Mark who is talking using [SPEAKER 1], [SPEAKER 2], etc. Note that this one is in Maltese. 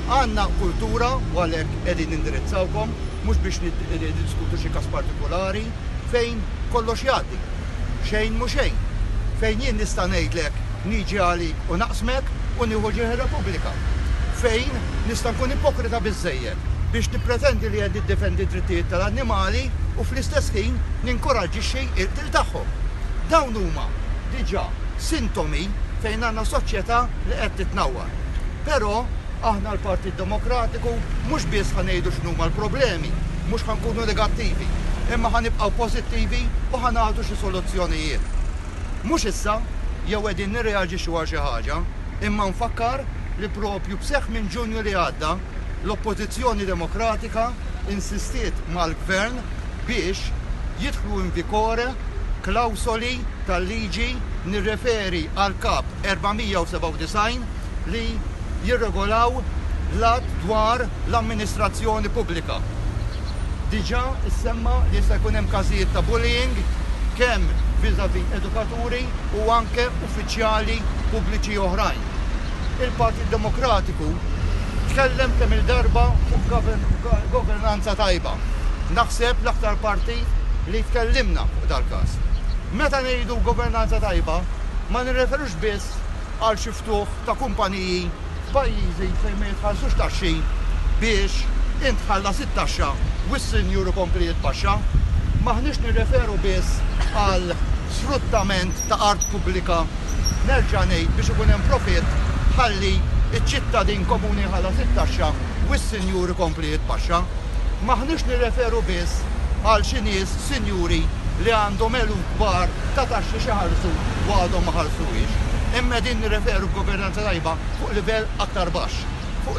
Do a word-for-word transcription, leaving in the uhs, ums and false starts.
[SPEAKER 1] Għandna kultura u għalhekk qegħdin nindirizzawkom, mhux biex niddiskutu xi każ partikolari, fejn kollox jgħaddi. Xejn mhu xejn. Fejn jien nista' ngħidlek niġi għalik u naqsmek u nieħu ġieħ ir-Repubblika. Fejn nista' nkun ipokrita biżżejjed biex nippretendi li qed niddefendi d-drittijiet tal-annimali u fl-istess ħin ninkoraġġixxi l-qtil tagħhom. Dawn huma diġà sintomi fejn għandna soċjetà li qed titnawwar. Però aħna l-Partit Demokratiku mhux biss ħa ngħidu x'inhuma l-problemi, mhux ħa nkunu negattivi, imma ħa nibqgħu pożittivi u ħa nagħtu xi soluzzjonijiet. Mhux issa jew qegħdin nirreaġixxu għal xi ħaġa, imma nfakkar li propju b'seħħ minn Ġunju li għadda l-Oppożizzjoni Demokratika insistiet mal-Gvern biex jidħlu in vigore klawsoli tal-liġi, nirreferi għal kap erba' mija u sebgħa u disgħin, li jirregolaw l-att dwar l-amministrazzjoni pubblika. Diġà issemma li jista' jkun hemm każijiet ta' bullying kemm vis-à-vis edukaturi u anke uffiċjali pubbliċi oħrajn. Il-Partit Demokratiku tkellem kemm il-darba fuq governanza tajba. Naħseb l-aktar partit li tkellimna fuq dal-każ. Meta ngħidu governanza tajba, ma nirreferux biss għal xi ftuħ ta' kumpaniji f'pajjiżi fejn ma jitħallsux taxxi biex int tħallas it-taxxa u s-sinjur ikompli jitpaxxa. M'aħniex nirreferu biss għal sfruttament ta' art pubblika, nerġa' ngħid, biex ikun hemm profitt ħalli iċ-ċittadin komuni jħallas it-taxxa u s-sinjur ikompli jitpaxxa. M'aħniex nirreferu biss għal xi nies sinjuri li għandhom eluf kbar ta' taxxi xi ħallsu u għadhom ma ħallsuhiex. Imma din nirreferu governanza tajba fuq livell aktar baxx. Fuq